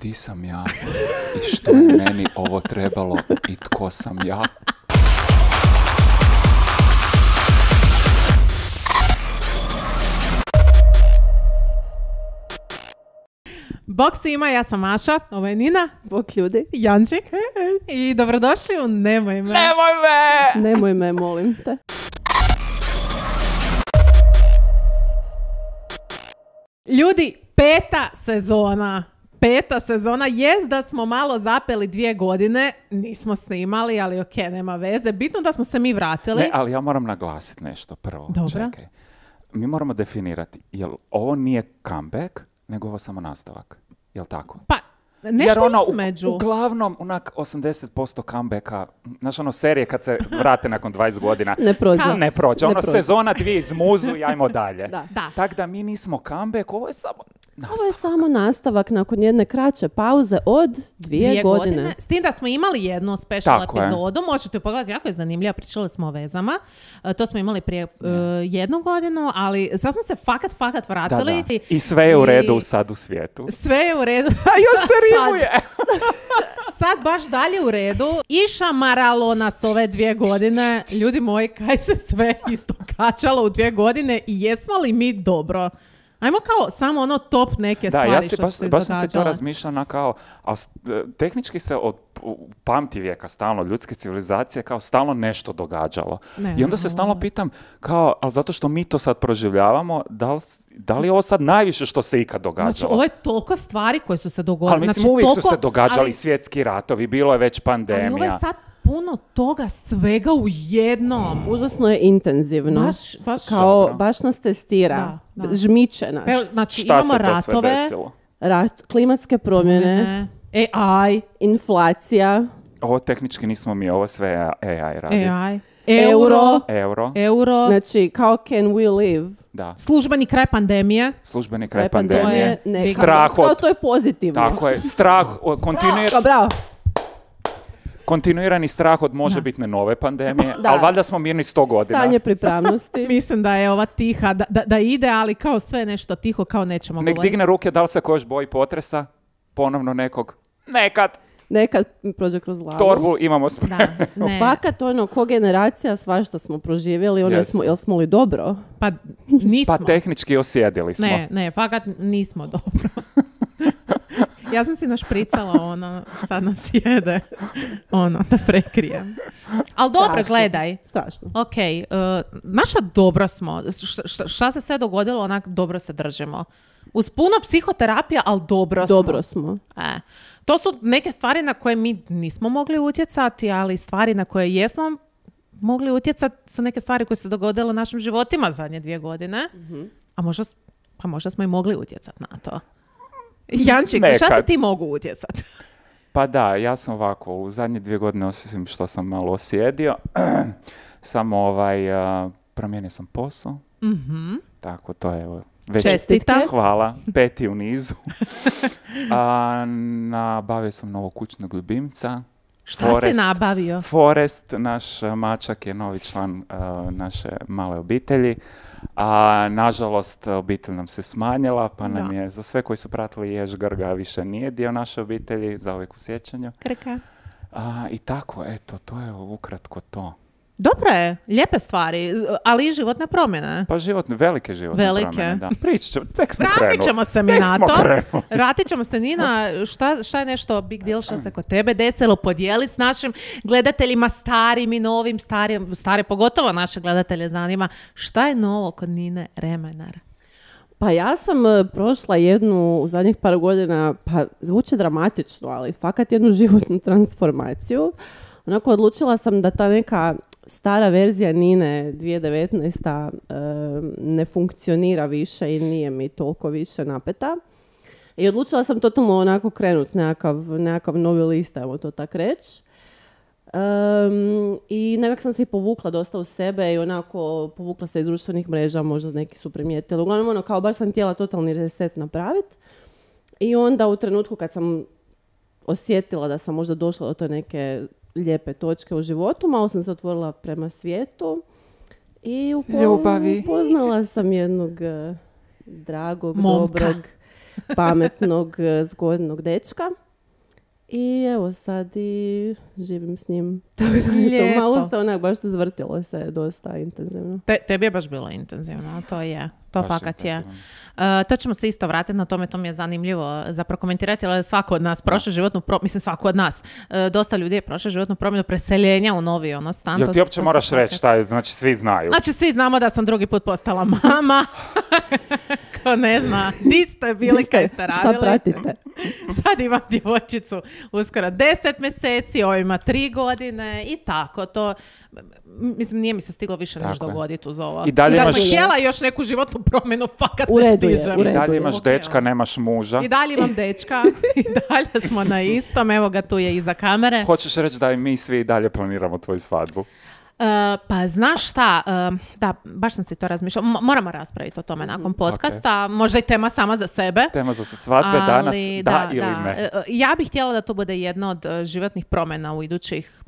di sam ja i što je meni ovo trebalo i tko sam ja. Bog svima, ja sam Maša, ovo je Nina, Bog ljudi. Jančik i dobrodošli u Nemoj me. Nemoj me! Nemoj me, molim te. Ljudi, peta sezona, jest da smo malo zapeli 2 godine, nismo snimali, ali ok, nema veze. Bitno da smo se mi vratili. Ne, ali ja moram naglasiti nešto prvo. Dobro. Čekaj. Mi moramo definirati, jel ovo nije comeback, nego ovo samo nastavak. Jel tako? Pa, nešto Jer između. Uglavnom, onak 80% comebacka, znaš serije kad se vrate nakon 20 godina, Ne prođe. ne prođe. Ne prođe. Sezona 2 izmuzu i ajmo dalje. Da. Tako da mi nismo comeback, ovo je samo nastavak. Ovo je samo nastavak nakon jedne kraće pauze od 2 godine. S tim da smo imali jednu special Tako je. epizodu, možete ju pogledati, jako je zanimljiva, pričali smo o vezama. To smo imali prije 1 godinu, ali sad smo se fakat vratili. Da. I sve je u redu sad u svijetu. Sve je u redu. A još se rimuje! Sad baš dalje u redu. Išamaralo nas ove 2 godine. Ljudi moji, kaj se sve isto kačalo u 2 godine i jesmo li mi dobro? Ajmo kao samo ono top neke stvari Ja što se baš sam se to izdogađale. razmišljala kao, ali tehnički se od pamtivijeka stalno, ljudske civilizacije, kao stalno nešto događalo. I onda se stalno pitam, kao, ali zato što mi to sad proživljavamo, da li je ovo sad najviše što se ikad događalo? Znači, ovo je toliko stvari koje su se dogodile. Ali mislim, znači, uvijek su toliko, se događali ali, svjetski ratovi, bilo je već pandemija. ali ovo je sad puno toga svega u jednom. Užasno je intenzivno. Baš Dobro. Baš nas testira. Da. Žmiče nas. Evo, znači, Šta imamo se to sve ratove, desilo? Klimatske promjene, AI, inflacija, Ovo tehnički nismo mi, ovo sve AI radi. Euro, Znači, kao can we live? da. službeni kraj pandemije. Službeni kraj pandemije. pandemije. Ne, Strah kao od... to je pozitivno. Tako je, strah, Bravo. kontinuirani strah od možebitne nove pandemije, Da. ali valjda smo mirni 100 godina. Stanje pripravnosti. Mislim da je ova tiha, da ide, ali kao sve nešto tiho, kao nećemo Nek govoriti. digne ruke, da li se ko još boji potresa? Ponovno nekog. Nekad prođe kroz glavu. Torbu imamo spremnu. Da, ne. Fakat ko generacija, svašta smo proživjeli, Jesmo. jel smo li dobro? Pa nismo. Pa tehnički osjedili smo. Ne, fakat nismo dobro. Ja sam si našpricala sad nas jede, da prekrijem. Ali dobro, Strašno. gledaj. Strašno. Ok, naša dobro smo. Šta se sve dogodilo, onak dobro se držimo. Uz puno psihoterapija, ali Dobro smo. To su neke stvari na koje mi nismo mogli utjecati, ali stvari na koje jesmo mogli utjecati su neke stvari koje se dogodile u našim životima zadnje 2 godine. A možda smo i mogli utjecati na to. Jančik, šta se ti mogu utjecati? Pa da, ja sam ovako, u zadnje 2 godine, osim što sam malo osjedio, samo promijenio sam posao. Tako, to je već... Čestitam. Hvala, 5. u nizu. Nabavio sam novog kućnog ljubimca. Šta si nabavio? Forest, naš mačak je novi član naše male obitelji. A nažalost obitelj nam se smanjila, pa nam je za sve koji su pratili Jež Grga više nije dio naše obitelji, za uvijek u sjećanju. Krka. I tako, eto, to je ukratko to. Dobro je, lijepe stvari, ali i životne promjene. Pa velike životne promjene, da. Pričat ćemo, tek smo krenuli. Vratit ćemo se mi na to. Vratit ćemo se, Nina, šta je nešto big deal što se kod tebe desilo? Podijeli s našim gledateljima, starim i novim, stare pogotovo naše gledatelje zanima. Šta je novo kod Nine Remenar? Pa ja sam prošla jednu u zadnjih par godina, pa zvuči dramatično, ali fakat jednu životnu transformaciju. Onako odlučila sam da ta neka stara verzija Nine 2019. Ne funkcionira više i nije mi toliko više napeta. I odlučila sam totalno onako krenuti nekakav novi list, ajmo to tak reći. I nekako sam se i povukla dosta u sebe i onako povukla se iz društvenih mreža, možda neki su primijetili. Uglavnom kao baš sam htjela totalni reset napraviti. I onda u trenutku kad sam osjetila da sam možda došla do te neke lijepe točke u životu, malo sam se otvorila prema svijetu i upoznala sam jednog dragog, momka. dobrog pametnog, zgodnog dečka. I evo sad i živim s njim. To malo se onak baš zvrtilo se dosta intenzivno. Tebi je baš bilo intenzivno, to je. To baš fakat intenzivno. Je. To ćemo se isto vratiti na tome, to mi je zanimljivo za prokomentirati, ali svako od nas prošle životnu promjenu, mislim svako od nas, dosta ljudi je prošle životnu promjenu preseljenja u novi stan. Jel ti uopće moraš reći šta je, znači svi znaju? Znači svi znamo da sam drugi put postala mama. Ko ne zna, di ste bili kad ste radili. Šta pratite? Sad imam djevojčicu uskoro 10 mjeseci, ovo ima 3 godine i tako to. Mislim, nije mi se stiglo više nešto dogoditi uz ovo. I dalje da imaš... sam htjela još neku životnu promjenu, fakat ne stižem. I dalje imaš dečka, nemaš muža. I dalje imam dečka, i dalje smo na istom, evo ga tu je iza kamere. Hoćeš reći da i mi svi dalje planiramo tvoju svadbu? Pa znaš šta, da, baš sam si to razmišljala, moramo raspraviti o tome nakon podcasta, okay. Možda i tema sama za sebe. Tema za svadbe danas, da ili ne. Ja bih htjela da to bude jedna od životnih promjena u idućih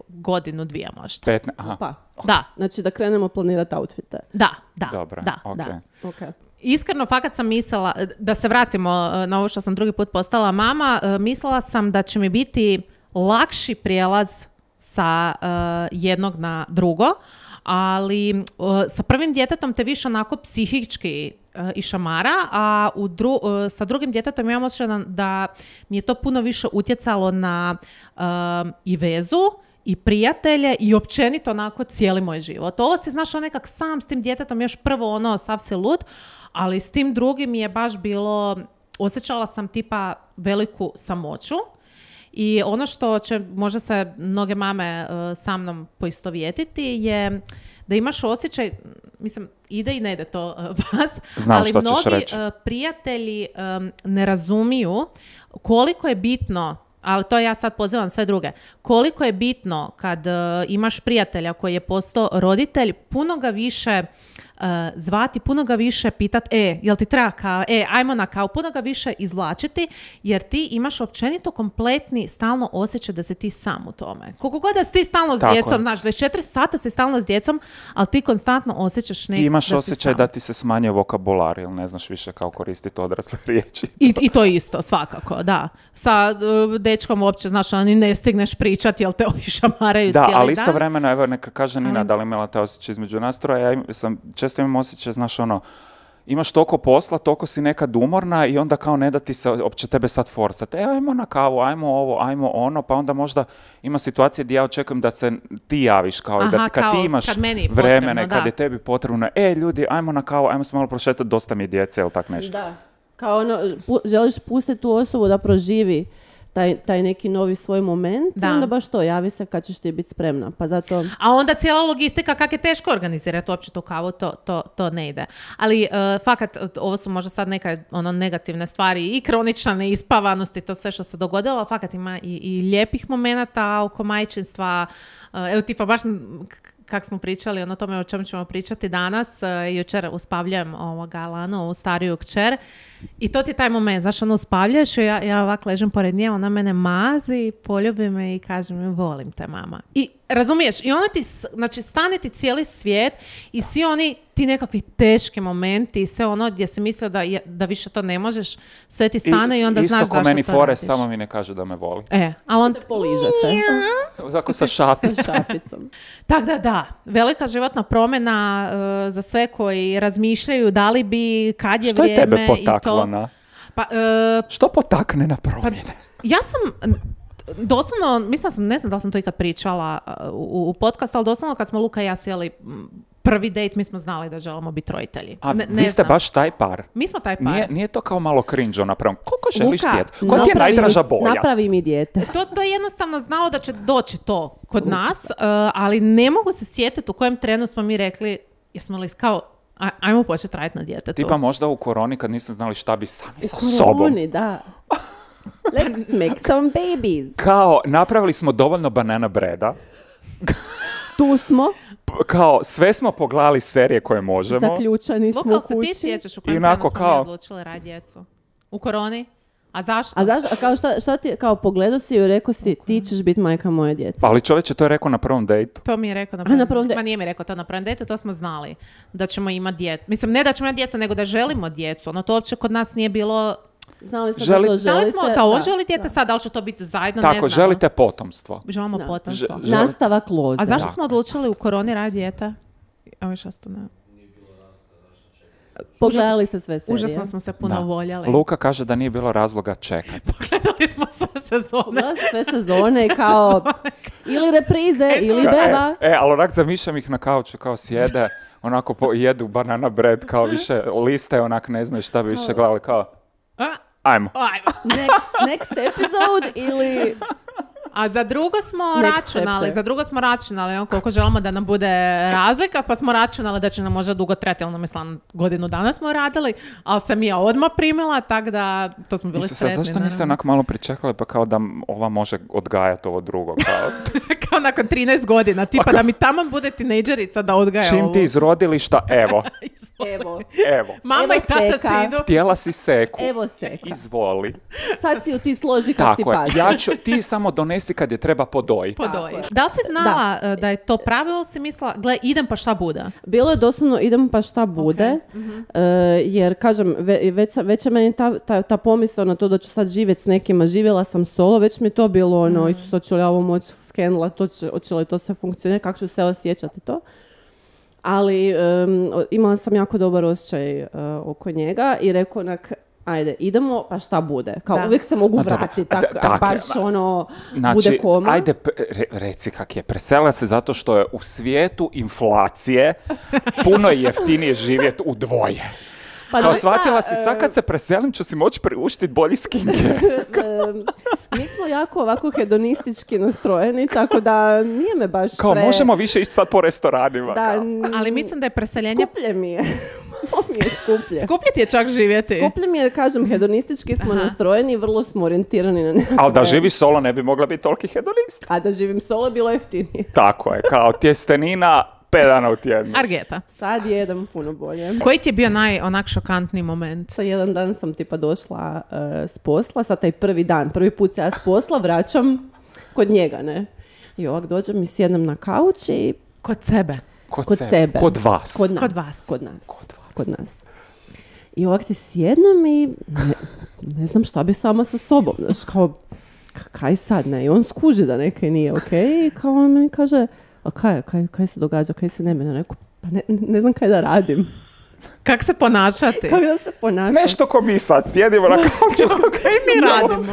godinu, 2 možda. 15, aha. Pa, da. Znači da krenemo planirati outfite. Da. Dobro, da, okay. da. Okay. Iskreno, fakat sam mislila, da se vratimo na ovo što sam drugi put postala mama, mislila sam da će mi biti lakši prijelaz sa jednog na drugo, ali sa prvim djetetom te više onako psihički išamara, a sa drugim djetetom imam osjećaj da mi je to puno više utjecalo na i vezu i prijatelje i općenito onako cijeli moj život. Ovo se znaš nekak sam s tim djetetom još prvo sav se lud, ali s tim drugim mi je baš bilo, osjećala sam tipa veliku samoću. I ono što će možda se mnoge mame sa mnom poistovjetiti je da imaš osjećaj, mislim, ide i ne ide to vas, znam ali mnogi prijatelji ne razumiju koliko je bitno, ali to ja sad pozivam sve druge, koliko je bitno kad imaš prijatelja koji je postao roditelj, puno ga više zvati, puno ga više pitat, jel ti treba kao, ajmo na kao, puno ga više izvlačiti, jer ti imaš općenito kompletni stalno osjećaj da si ti sam u tome. Koliko god da si ti stalno s djecom, znaš, 24 sata si stalno s djecom, ali ti konstantno osjećaš I imaš osjećaj da ti se smanjuje vokabular, ili ne znaš više kao koristiti odrasle riječi. I to isto, svakako, da. Sa dečkom uopće, znaš, ni ne stigneš pričati, jel te ovi šamaraju cijeli dan. Da, ali istovremeno, evo, neka kaže Nina, da li imala te osjećaj između nas troje, često imam osjećaj, znaš, imaš toliko posla, toliko si nekad umorna i onda kao ne da ti se opće tebe sad forsati. Ajmo na kavu, ajmo ovo, ajmo ono, pa onda možda ima situacije gdje ja očekujem da se ti javiš, kao i da kad ti imaš vremena, kad je tebi potrebno, ljudi, ajmo na kavu, ajmo se malo prošetati, dosta mi djece, ili tak nešto. Da, kao želiš pustiti tu osobu da proživi taj neki novi svoj moment, i onda baš to, javi se kad ćeš ti biti spremna. Pa zato... A onda cijela logistika, kak je teško organizirati uopće tu kavu, to ne ide. Ali fakat, ovo su možda sad neke negativne stvari i kronična neispavanost i to sve što se dogodilo, fakat ima i lijepih momenata oko majčinstva. Evo tipa baš kak smo pričali, o tome o čemu ćemo pričati danas, jučer uspavljujem Lanu, ovu stariju kćer, i to ti je taj moment, znaš, uspavljaš i ja ovak ležem pored nje, ona mene mazi, poljubi me i kaže mi, volim te, mama. I razumiješ, i ona ti, znači, stane ti cijeli svijet i svi oni ti nekakvi teški momenti, sve ono gdje si mislio da više to ne možeš, sve ti stane i onda znaš zašto to radiš. Isto ko meni Forest, samo mi ne kaže da me voli. Ali on te poližete. Tako sa šapicom. Tako da, velika životna promjena za sve koji razmišljaju da li bi, kad je vrijeme. Što je tebe potaklo na? Što potakne na promjene? Ja sam doslovno, ne znam da li sam to ikad pričala u podcastu, ali doslovno kad smo Luka i ja sjeli prvi dejt, mi smo znali da želimo biti roditelji. A vi ste baš taj par? Mi smo taj par. Nije to kao malo cringe napravno? Koliko želiš djecu? Koja ti je najdraža boja? Napravi mi dijete. To je jednostavno znalo da će doći to kod nas, ali ne mogu se sjetiti u kojem trenu smo mi rekli, jesmo li kao, ajmo početi raditi na djetetu. Tipa možda u koroni kad nisam znali šta bi sami sa sobom. U koroni, da. Let's make some babies. Kao, napravili smo dovoljno banana breda. Tu smo. Kao, sve smo pogledali serije koje možemo. Zaključani smo u kući. Luka, se ti sjećaš u kojem trenu smo mi odlučili raditi djecu? U koroni? A zašto? A kao šta ti, kao pogledao si i rekao si, ti ćeš biti majka moje djece. Ali čovječe, to je rekao na prvom dejtu. To mi je rekao na prvom dejtu. Ma nije mi rekao to na prvom dejtu, to smo znali. Da ćemo imati djecu. Mislim, ne da ćemo imati djecu, nego da želimo djecu. Ono, to uopće kod nas nije bilo... Znali smo da to želite. Znali smo da on želi djete, sad da li će to biti zajedno, ne znamo. Tako, želite potomstvo. Želimo potomstvo. Nastavak loze. A zašto smo odlučili u koroni raditi dijete? Ovo što ne... Pogledali se sve serije. Užasno smo se puno voljeli. Luka kaže da nije bilo razloga čekati. Pogledali smo sve sezone kao ili reprize ili beba. Ali onak zamišljam ih na kauču kao sjede, onako jedu banana bread, kao više liste, onak ne znaju šta bi više gledali, kao ajmo. Next episode ili... A za drugo smo računali koliko želimo da nam bude razlika, pa smo računali da će nam možda dugo trajati, ali mislim, godinu dana smo radili, ali sam ja odmah primila, tako da to smo bili sretni. Zašto niste onako malo pričekali, pa kao da ova može odgajati ovo drugo? Kao nakon 13 godina, tipa da mi tamo bude tinejdžerica da odgaja ovo. Čim ti iz rodilišta, evo. Mama i tata si idu. Htjela si seku. Evo seka. Izvoli. Sad si ju ti složi kako ti paše. Ti samo donesi kad je treba podojiti. Da li si znala da je to pravilo, si mislila, gle, idem pa šta bude? Bilo je doslovno idem pa šta bude, jer kažem, već je meni ta pomisla na to da ću sad živjeti s nekima, živjela sam solo, već mi je to bilo ono, Isus, hoću li ja ovo moći skenula, hoće li to sve funkcionirati, kako ću se osjećati to. Ali imala sam jako dobar osjećaj oko njega i rekao onak, ajde, idemo, pa šta bude? Kao uvijek se mogu vratiti, baš ono, znači, bude koma. Ajde, reci kak je. Presela se zato što je u svijetu inflacije puno jeftinije živjeti u dvoje. Pa kao shvatila si, sad kad se preselim ću si moći priuštiti bolji skincare. Mi smo jako ovako hedonistički nastrojeni, tako da nije me baš kao možemo više ići sad po restoranima. Ali mislim da je preseljenje... Skuplje mi je. Skuplje. Skuplje ti je čak živjeti. Skuplje mi je, kažem, hedonistički smo nastrojeni i vrlo smo orijentirani na nekakve... Ali da živiš solo ne bi mogla biti toliki hedonist. A da živim solo bilo jeftinije. Tako je, kao tjestenina 5 dana u tjednu. Argeta. Sad jedem puno bolje. Koji ti je bio onak šokantni moment? Jedan dan sam tipa došla s posla, sad taj prvi put se ja s posla vraćam kod njega, ne? I ovak dođem i sjednem na kauč i... Kod sebe? Kod sebe. Kod vas. Kod nas. I ovak ti sjednem i ne znam šta bi sama sa sobom. Znaš, kao, kaj sad, ne? I on skuži da nekaj nije okej. I kao on meni kaže, a kaj se događa, kaj se ne mene? Rekao, pa ne znam kaj da radim. Kako se ponašati? Kako da se ponašati? Nešto ko mi sad sjedimo na kauču. Kaj mi radimo?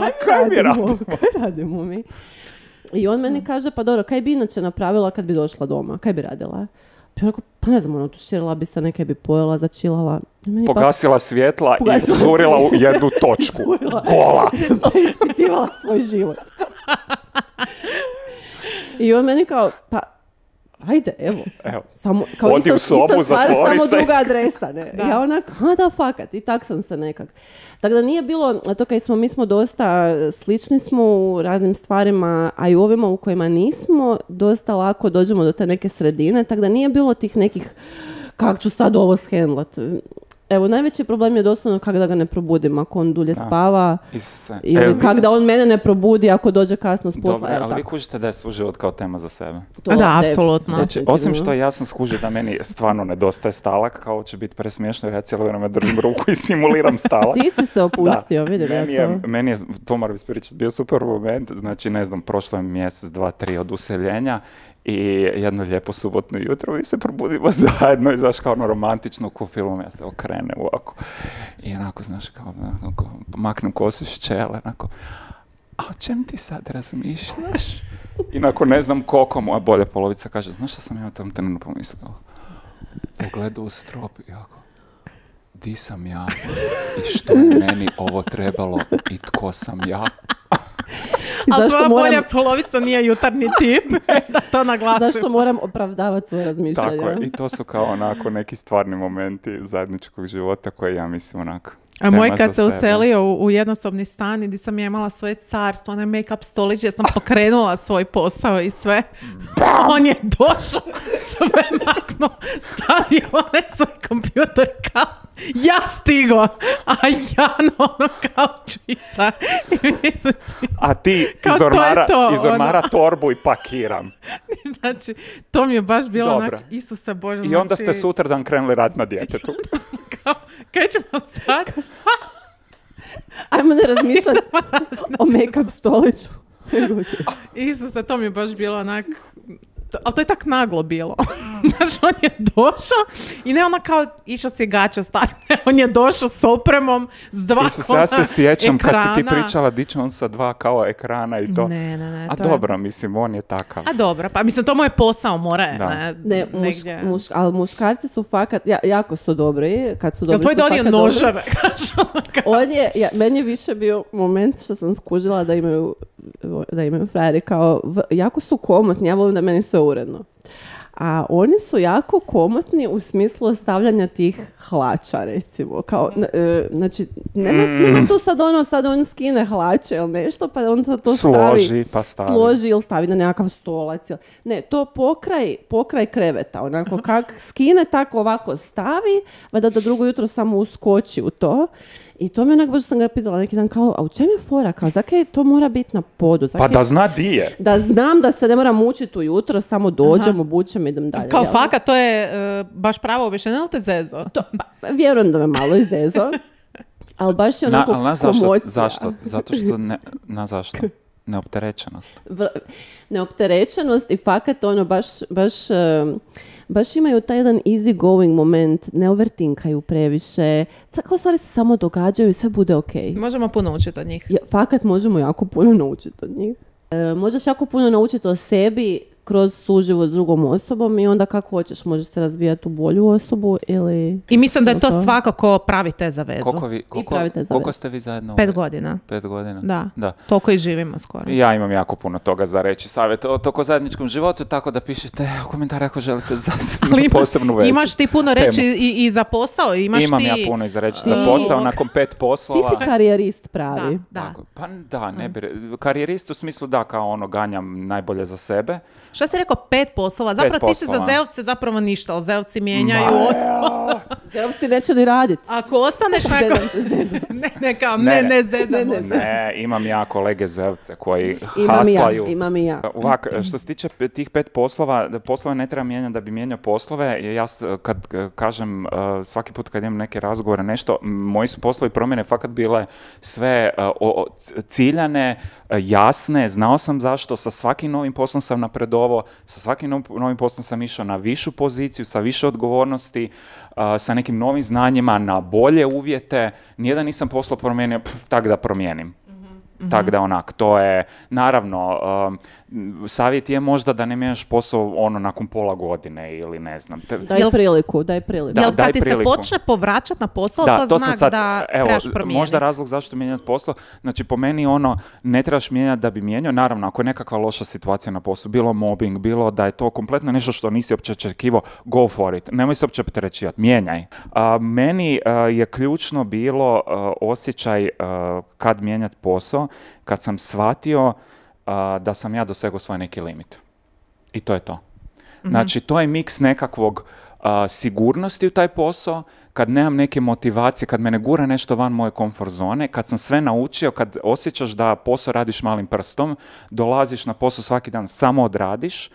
Kaj radimo mi? I on meni kaže, pa dobro, kaj bi inače napravila kad bi došla doma? Kaj bi radila? Pa ne znam, ono, tuširala bi se, nekaj bi pojela, začilala. Pogasila svjetla i zurila u jednu točku. Gola! Pa ispitivala svoj život. I on meni kao, pa ajde, evo. Samo, kao odi u sobu, zatvori samo se. druga adresa, ne? Da. Ja onak, da, fakat. I tak sam se nekak. Tako da nije bilo, to kaj mi smo dosta slični smo u raznim stvarima, a i u ovima u kojima nismo, dosta lako dođemo do te neke sredine, tako da nije bilo tih nekih, kak ću sad ovo shendlat. Evo, najveći problem je doslovno kako da ga ne probudim ako on dulje spava. Ili kako da on mene ne probudi ako dođe kasno s posla. Dobro, ali vi kužite da je suživot kao tema za sebe. Da, apsolutno. Znači, osim što ja sam skužio da meni stvarno nedostaje stalak, kao će biti presmiješno jer ja cijelo vrijeme držim ruku i simuliram stalak. Ti si se opustio, vidim ja to. Meni je, to moram ispričati, bio super moment, znači ne znam, prošlo je mjesec, 2, 3 od useljenja i jedno lijepo subotno jutro mi se probudimo zajedno i znaš kao ono romantično ko filmom, ja se okrenem ovako i onako znaš kao maknem kosu iz čele, onako, a o čem ti sad razmišljaš? I nakon ne znam koliko moja bolja polovica kaže, znaš šta sam ja u tom trenutku pomislio? Pogledao u strop i jako, di sam ja i što je meni ovo trebalo i tko sam ja? Ali tvoja bolja polovica nije jutarnji tip, da to naglasim. Zašto moram opravdavati svoje razmišljanje? Tako je, i to su kao onako neki stvarni momenti zajedničkog života koje ja mislim onako A moj kad se uselio u jednosobni stan i gdje sam ja imala svoje carstvo, onaj make-up stolić, ja sam pokrenula svoj posao i sve. On je došao, sve maknuo, stavio onaj svoj kompjuter kao Ja stigo, a ja na ono kauču iza. A ti iz ormara torbu i pakiram. Znači, to mi je baš bilo onak, Isuse Bože. I onda ste sutradan krenuli raditi na djetetu. Kaj ćemo sad? Ajmo ne razmišljati o make-up stoliću. Isuse, to mi je baš bilo onak... Ali to je tak naglo bilo. Znaš, on je došao i ne ona kao išao si gaća staviti. On je došao s opremom, s 2 Isus, ja se sjećam ekrana. kad si ti pričala di će on sa 2 kao ekrana i to. Ne. A dobro, mislim, on je takav. A dobro, pa mislim, to mu je posao, mora je. Ali muškarci su fakat, jako su dobri. Kad su dobri, tvoj donio noževe? Meni je više bio moment što sam skužila da imaju frajeri kao, jako su komotni, ja volim da meni sve uredno. A oni su jako komotni u smislu ostavljanja tih hlača, recimo. Kao, znači, nema tu sad on skine hlače ili nešto, pa on to složi ili stavi na nekakav stolac. Ne, to pokraj kreveta. Onako, kak skine, tako ovako stavi, da drugo jutro samo uskoči u to. I to mi onak, baš sam ga pitala neki dan, kao, a u čem je fora? Kao, zakaj to mora biti na podu? Pa da zna di je. Da znam da se ne moram mučiti ujutro, samo dođem, obučem i idem dalje. Kao faka, to je baš pravo objašnjenje, ili te zezo? Vjerujem da me malo i zezo. Ali baš je onako komocija. Zašto? Zato što zašto? Neopterećenost. Neopterećenost i fakat ono baš imaju taj jedan easy going moment, ne overtinkaju previše, tako stvari se samo događaju i sve bude okej. Možemo puno učiti od njih. Fakat možemo jako puno naučiti od njih. Možeš jako puno naučiti o sebi kroz suživot s drugom osobom i onda kako hoćeš, možeš se razvijati u bolju osobu ili... I mislim da je to svakako pravi te za vezu. Koliko ste vi zajedno? 5 godina. 5 godina? Da. Toliko i živimo skoro. Ja imam jako puno toga za reći. Savjet o toko zajedničkom životu, tako da pišite u komentare ako želite za posebnu vezu. Imaš ti puno reći i za posao? Imam ja puno i za reći za posao, nakon 5 poslova. Ti si karijerist pravi. Da. Pa da, ne bi... Karijerist u smislu da, kao ono, ganjam najbolje za sebe. Šta si rekao, 5 poslova? Zapravo ti si za zeovce zapravo ništa, ali zeovci mijenjaju. Zeovci neće ni raditi. Ako ostaneš nakon... Ne, zezamo se. Ne, imam ja kolege zeovce koji haslaju. Imam i ja. Ovak, što se tiče tih 5 poslova, poslove ne treba mijenjati da bi mijenjao poslove. Ja kad kažem svaki put kad imam neke razgovore, nešto, moji su poslovi promjene fakat bile sve ciljane, jasne, znao sam zašto, sa svakim novim poslom sam napredovao, sa svakim novim poslom sam išao na višu poziciju, sa više odgovornosti, sa nekim novim znanjima, na bolje uvjete. Nijedan nisam posao promijenio, tak da promijenim. Tak da onak, to je, naravno, savjet je možda da ne mijenjaš posao ono nakon pola godine ili ne znam. Daj priliku. Jel kad ti se počne povraćati na posao, to znak sad, da trebaš promijeniti? Možda razlog zašto mijenjati posao, znači po meni ono, ne trebaš mijenjati da bi mijenjao, naravno, ako je nekakva loša situacija na poslu, bilo mobbing, bilo da je to kompletno nešto što nisi uopće očekivao, go for it, nemoj se uopće opterećivati, mijenjaj. Meni je ključno bilo osjećaj kad mijenjati posao, kad sam shvatio da sam ja dosegao svoj neki limit. I to je to. Znači, to je miks nekakvog sigurnosti u taj posao, kad nemam neke motivacije, kad me ne gura nešto van moje komfort zone, kad sam sve naučio, kad osjećaš da posao radiš malim prstom, dolaziš na posao svaki dan, samo odradiš,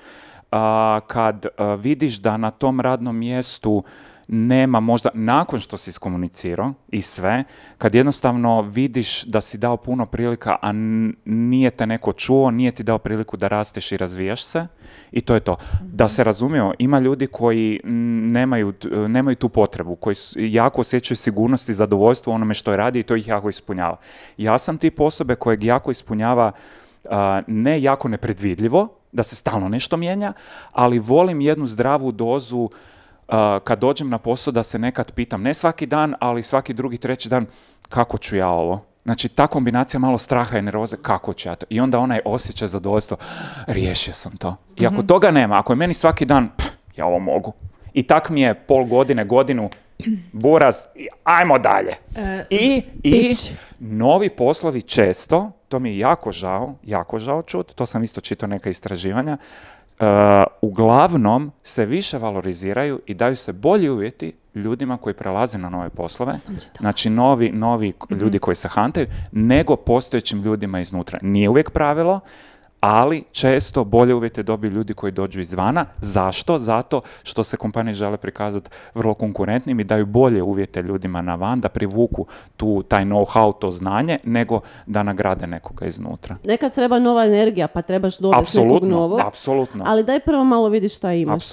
kad vidiš da na tom radnom mjestu nema možda, nakon što si iskomunicirao i sve, kad jednostavno vidiš da si dao puno prilika, a nije te neko čuo, nije ti dao priliku da rasteš i razvijaš se, i to je to. Da se razumijemo, ima ljudi koji nemaju tu potrebu, koji jako osjećaju sigurnost i zadovoljstvo u onome što je radi i to ih jako ispunjava. Ja sam tip osobe kojeg jako ispunjava ne jako nepredvidljivo, da se stalno nešto mijenja, ali volim jednu zdravu dozu kad dođem na posao da se nekad pitam, ne svaki dan, ali svaki drugi, treći dan, kako ću ja ovo? Znači, ta kombinacija malo straha i nervoze, kako ću ja to? I onda onaj osjećaj zadovoljstva, riješio sam to. I ako toga nema, ako je meni svaki dan, ja ovo mogu. I tak mi je pol godine, godinu, buraz, ajmo dalje. I novi poslovi često, to mi je jako žao čut, to sam isto čitao neka istraživanja, uglavnom se više valoriziraju i daju se bolji uvjeti ljudima koji prelaze na nove poslove, znači novi ljudi koji se hantaju, nego postojećim ljudima iznutra. Nije uvijek pravilo, ali često bolje uvjete dobiju ljudi koji dođu izvana. Zašto? Zato što se kompanije žele prikazati vrlo konkurentnim i daju bolje uvjete ljudima na van, da privuku taj know-how, to znanje, nego da nagrade nekoga iznutra. Nekad treba nova energija, pa trebaš dobiti nekog novog. Apsolutno. Ali daj prvo malo vidi šta imaš.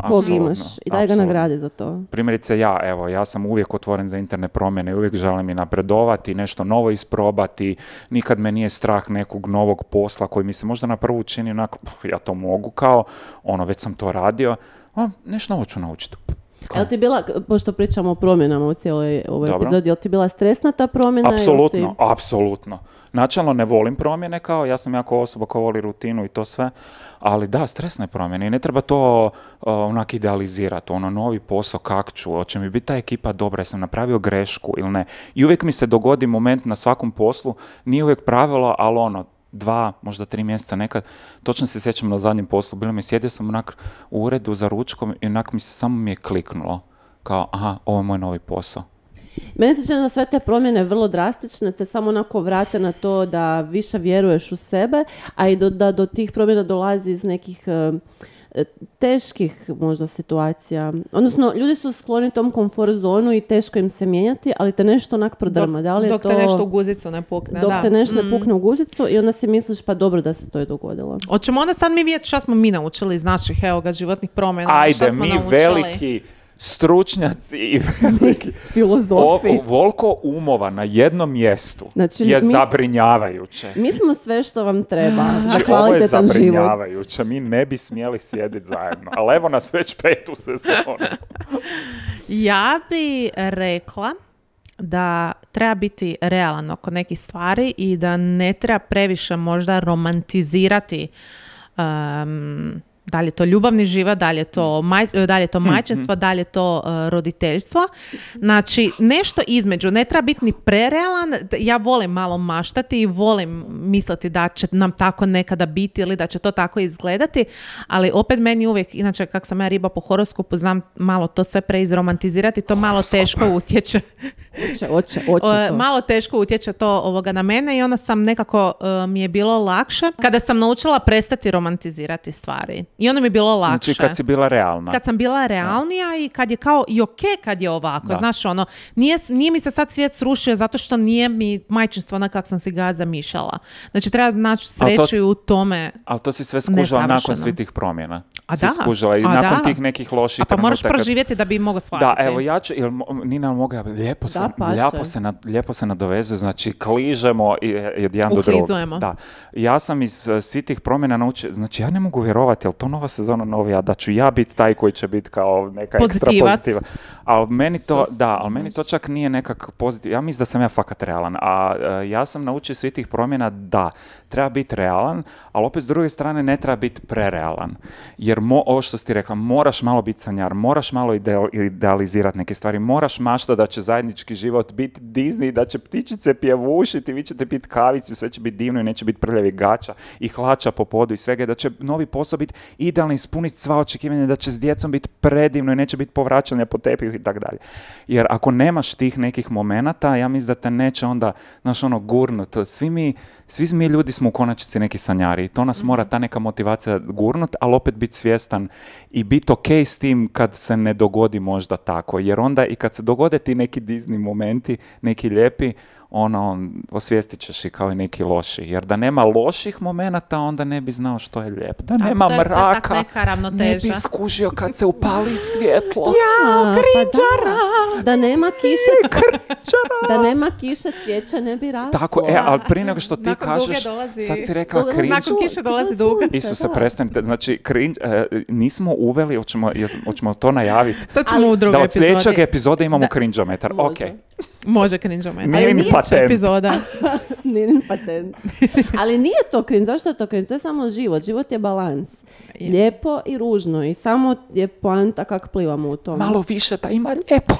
Kog imaš i daj ga nagradi za to. Primjerice ja sam uvijek otvoren za interne promjene, uvijek želim i napredovati, nešto novo isprobati, nikad me nije strah nekog novog posla koji mi se možda na prvu čini onako, ja to mogu kao, već sam to radio, nešto novo ću naučiti. Jel ti bila, pošto pričamo o promjenama u cijeloj ovoj epizodi, jel ti bila stresna ta promjena? Apsolutno. Načelno ne volim promjene ja sam jako osoba koja voli rutinu i to sve, ali da, stresne promjene i ne treba to onak idealizirati, novi posao, kak ću, hoće mi biti ta ekipa dobra, jesam napravio grešku ili ne. I uvijek mi se dogodi moment na svakom poslu, nije uvijek pravilo, ali 2, možda 3 mjeseca nekad, točno se sjećam na zadnjem poslu, sjedio sam onak u uredu za ručkom i onak samo mi je kliknulo, kao ovo je moj novi posao. Meni se čini da sve te promjene vrlo drastične, te samo onako vrate na to da više vjeruješ u sebe, a i da do tih promjena dolazi iz nekih teških možda situacija. Odnosno, ljudi su skloni tom komfort zonu i teško im se mijenjati, ali te nešto onak prodrma. Dok te nešto u guzicu ne pukne. Dok te nešto ne pukne u guzicu i onda si misliš pa dobro da se to je dogodilo. Hoćemo onda sad mi vidjeti šta smo mi naučili iz naših životnih promjena. Ajde, mi veliki stručnjaci i veliki filozofi. Voliko umova na jednom mjestu je zabrinjavajuće. Mi smo sve što vam treba. Znači, ovo je zabrinjavajuće. Mi ne bi smjeli sjediti zajedno. Ali evo nas već 5. sezonu. Ja bi rekla da treba biti realan oko nekih stvari i da ne treba previše možda romantizirati da li je to ljubavni život, da li je to majčinstvo, da li je to roditeljstvo. Znači, nešto između. Ne treba biti ni prerealan. Ja volim malo maštati i volim misliti da će nam tako nekada biti ili da će to tako izgledati, ali opet meni uvijek, inače kak sam ja riba po horoskopu, znam malo to sve preizromantizirati, to malo teško utječe. Malo teško utječe to na mene i onda sam nekako mi je bilo lakše kada sam naučila prestati romantizirati stvari. I onda mi je bilo lakše. Znači kad si bila realna. Kad sam bila realnija i kad je kao i okej kad je ovako. Znaš, nije mi se sad svijet srušio zato što nije mi majčinstvo onak kak sam si ga zamišljala. Znači treba naći sreću u tome. Ali to si sve skužila nakon svih tih promjena. Skužila i nakon tih nekih loših trenutaka. Pa moraš proživjeti da bi mogao shvatiti. Da, evo ja ću, Nina mogu, lijepo se nadovezuje, znači kližemo jedan do drugog. Da. Ja sam iz svih tih promjena naučio, znači ja ne mogu vjerovati, jel to nova sezona novija, da ću ja biti taj koji će biti kao neka ekstra pozitiva. Ali meni to čak nije nekak pozitiv. Ja mislim da sam ja fakat realan. A ja sam naučio svih tih promjena da treba biti realan, ali opet s druge strane ne treba biti prerealan. Jer ovo što si ti rekla, moraš malo biti sanjar, moraš malo idealizirati neke stvari, moraš mašta da će zajednički život biti Disney, da će ptičice pjevušiti, vi ćete piti kavicu, sve će biti divno i neće biti prljavi gača i hlača po podu i svega, da će novi posao biti idealno, ispuniti sva očekivanja, da će s djecom biti predivno i neće biti povraćanja po tepihu i tako dalje. Jer ako nemaš tih nekih momenata, ja mislim da te neće onda, gurnut. Svi mi ljudi smo u konačnici neki sanjari i to nas mora ta neka motivacija gurnut, ali opet biti svjestan i biti okej s tim kad se ne dogodi možda tako. Jer onda i kad se dogode ti neki Disney momenti, neki lijepi, osvijestit ćeš i kao i neki loši. Jer da nema loših momenata, onda ne bi znao što je lijepo. Da nema mraka, ne bi skužio kad se upali svjetlo. Krinđara! Da nema kiše, da nema kiše, cvijeće ne bi raslo. Tako, ali prije nego što ti kažeš, sad si rekla krinđ. Nakon kiše dolazi duga. Isuse, prestanite. Znači, nismo uveli, hoćemo to najaviti. To ćemo u drugoj epizodi. Da od sljedećeg epizode imamo crinđometar. Može crinđometar. Nije ni patent. Epizoda. Nije ni patent. Ali nije to cringe. Zašto je to cringe? To je samo život. Život je balans. Lijepo i ružno. I samo je poanta kak plivamo u tom. Malo više da ima lijepo.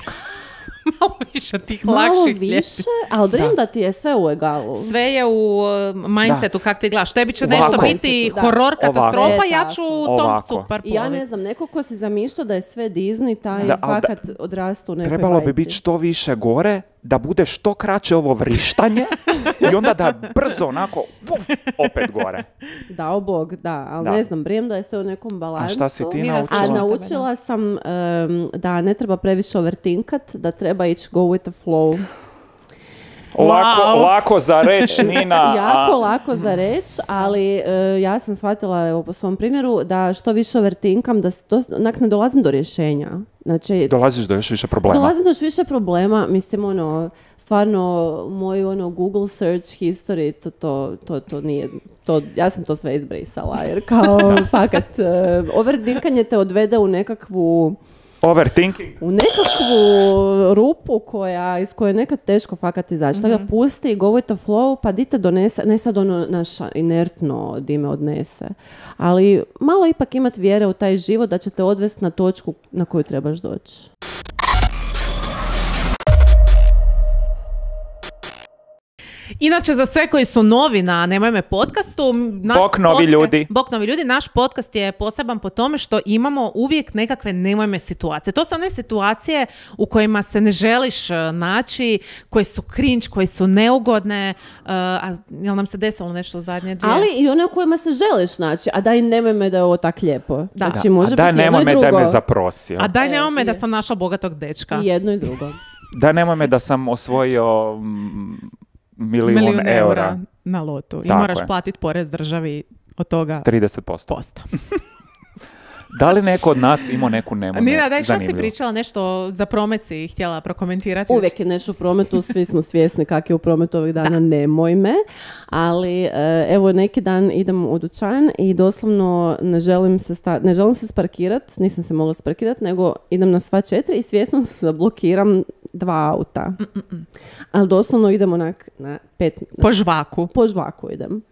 malo više tih lakših malo više, ali brim da ti je sve u egalu. Sve je u mindsetu kak ti gledaš. Tebi će nešto biti horor, katastrofa, ja ću tom super ploviti. Ja ne znam, neko ko si zamišljao da je sve Disney, taj fakat odrastu u nekoj trebalo bajci. bi biti što više gore, da bude što kraće ovo vrištanje i onda da brzo onako opet gore. Dao Bog, da, ali ne znam, brijem da je sve u nekom balansu. A šta si ti naučila? A naučila sam da ne treba previše overtinkat, da treba ići go with the flow. Lako za reč, Nina. Jako lako za reč, ali ja sam shvatila evo, po svom primjeru da što više overtinkam, da ne dolazim do rješenja. Znači, dolaziš do još više problema. Dolazim do još više problema, mislim, stvarno, moj Google search history, to nije, ja sam to sve izbrisala, jer kao, fakat, overtinkanje te odvede u nekakvu overthinking. U nekakvu rupu iz koje je nekad teško fakat izaći. Tako da pusti, go with the flow, pa di te donese, ne sad naša inertno di me odnese. Ali malo ipak imat vjere u taj život da će te odvesti na točku na koju trebaš doći. Inače, za sve koji su novi na Nemoj me podcastu, Bok novi ljudi, naš podcast je poseban po tome što imamo uvijek nekakve nemoj me situacije. To su one situacije u kojima se ne želiš naći, koje su cringe, koje su neugodne, jel nam se desilo nešto u zadnje dvije? Ali i one u kojima se želiš naći, a daj nemoj me da je ovo tak lijepo. Da. Znači, može a daj biti nemoj jedno i me drugo. da me zaprosio. A daj nemoj me da sam našla bogatog dečka. I jedno i drugo. Da nemoj me da sam osvojio milijun eura na lotu. I tako moraš je. platiti porez državi od toga 30%. Da li neko od nas imao neku nemoj me Nina, daj što zanimljivo? si pričala nešto za promet si htjela prokomentirati? Uvijek je nešto u prometu, svi smo svjesni kak je u prometu ovih dana, nemoj me. Ali evo neki dan idem u dućan i doslovno ne želim se sparkirat, nisam se mogla sparkirat, nego idem na sva 4 i svjesno se zablokiram 2 auta. Ali doslovno idem onak na 5... Po žvaku idem.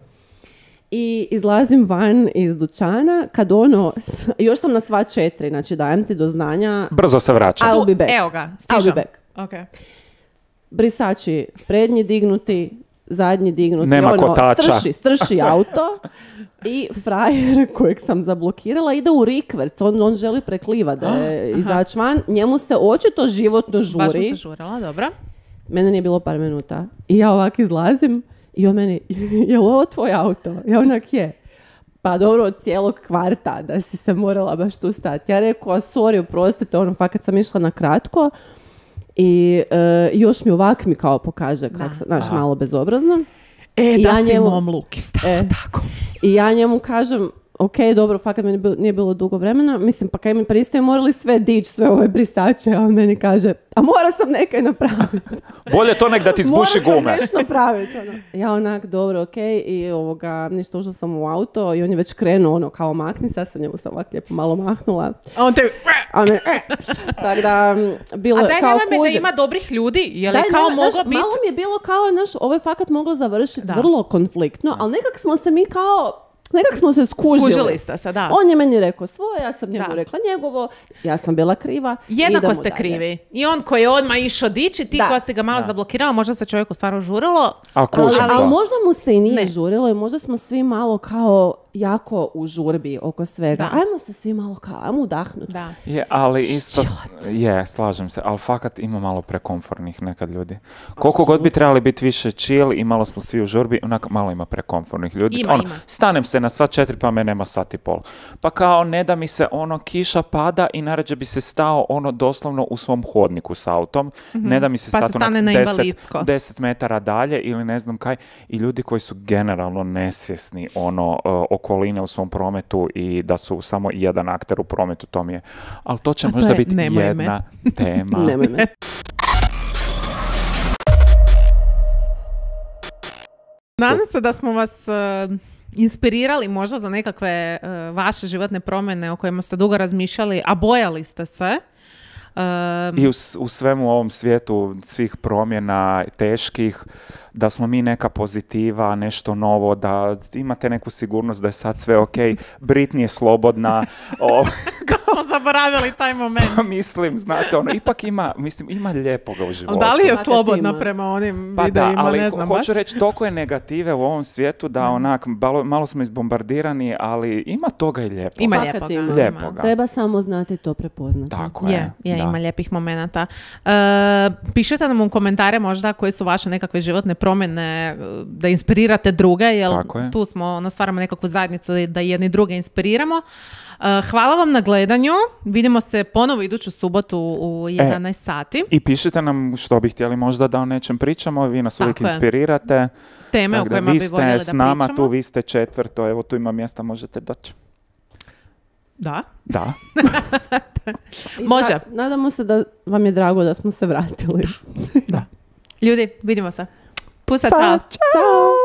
I izlazim van iz dućana kad još sam na sva 4, znači dajem ti do znanja. Brzo se vraća. I'll be back. Evo ga, stižem. I'll be back. Okay. Brisači prednji dignuti, zadnji dignuti. Nema kotača. Strši auto i frajer kojeg sam zablokirala ide u rikverc. On želi preklivati da je izaći van. Njemu se očito životno žuri. Baš mu se žurala, dobro. Mene nije bilo par minuta. I ja ovak izlazim i on meni, je li ovo tvoj auto? Ja onak je. Pa dobro, od cijelog kvarta da si se morala baš tu stati. Ja rekao, sorry, oprostite, fakat sam išla na kratko i još mi ovak mi kao pokaže kak sam, znaš, malo bezobrazno. Da si mom lukista, tako. I ja njemu kažem, ok, dobro, fakat mi nije bilo dugo vremena. Mislim, pa kaj mi pristaju morali sve dići, sve ove brisače, a on meni kaže, a mora sam nekaj napraviti. Bolje to nek da ti zbuši gume. Mora sam nešto napraviti. Ja onak, dobro, ok, i ništa, ušla sam u auto i on je već krenuo, kao makni se, ja sam njemu sam ovak lijepo malo mahnula. A on te... Tako da, bilo a daj kao nemoj me da ima dobrih ljudi, je li kao moglo biti... Malo mi je bilo kao, ovo je fakat moglo završiti vrlo konfliktno, ali nekak smo se mi nekak smo se skužili ste se, da. On je meni rekao svoje, ja sam njemu rekla njegovo, ja sam bila kriva. Jednako ste krivi. I on koji je odmah išao dići, ti koja si ga malo zablokirala, možda se čovjeku stvarno žurilo. Ali možda mu se i nije žurilo i možda smo svi malo kao jako u žurbi oko svega. Ajmo se svi malo kao, ajmo udahnuti. Je, ali isto, slažem se, ali fakat ima malo prekomfortnih nekad ljudi. Koliko god bi trebali biti više chill i malo smo svi u žurbi, onako malo ima prekomfortnih ljudi. Ima. Stanem se na sva 4, pa me nema sat i pol. Pa kao ne da mi se kiša pada i narađe bi se stao doslovno u svom hodniku s autom. Ne da mi se stati 10 metara dalje ili ne znam kaj. I ljudi koji su generalno nesvjesni okoline u svom prometu i da su samo jedan akter u prometu, to mi je. Ali to će možda biti jedna tema. Nemoj me. Nadam se da smo vas inspirirali možda za nekakve vaše životne promjene o kojima ste dugo razmišljali, a bojali ste se. I u svemu ovom svijetu svih promjena teških, da smo mi neka pozitiva, nešto novo, da imate neku sigurnost da je sad sve ok, Britney je slobodna. Smo zaboravili taj moment. Mislim, znate, ipak ima lijepoga u životu. Da li je slobodna prema onim videima, ali ne znam baš. Hoću reći, toliko je negative u ovom svijetu da onak, malo smo izbombardirani, ali ima toga i lijepoga. Ima lijepoga. Treba samo znati to prepoznati. Tako je. Ima lijepih momenata. Pišite nam u komentare možda koje su vaše nekakve životne promjene, da inspirirate druge, jer tu smo, stvaramo nekakvu zajednicu da jedni druge inspiriramo. Hvala vam na gledanju. Vidimo se ponovo iduću subotu u 11 sati. I pišite nam što bi htjeli možda da o nečem pričamo. Vi nas uvijek inspirirate. Teme o kojima bi voljeli da pričamo. Vi ste s nama tu, vi ste četvrto. Evo tu ima mjesta, možete doći. Da. Može. Nadamo se da vam je drago da smo se vratili. Da. Ljudi, vidimo se. Pusa, čao. Ćao.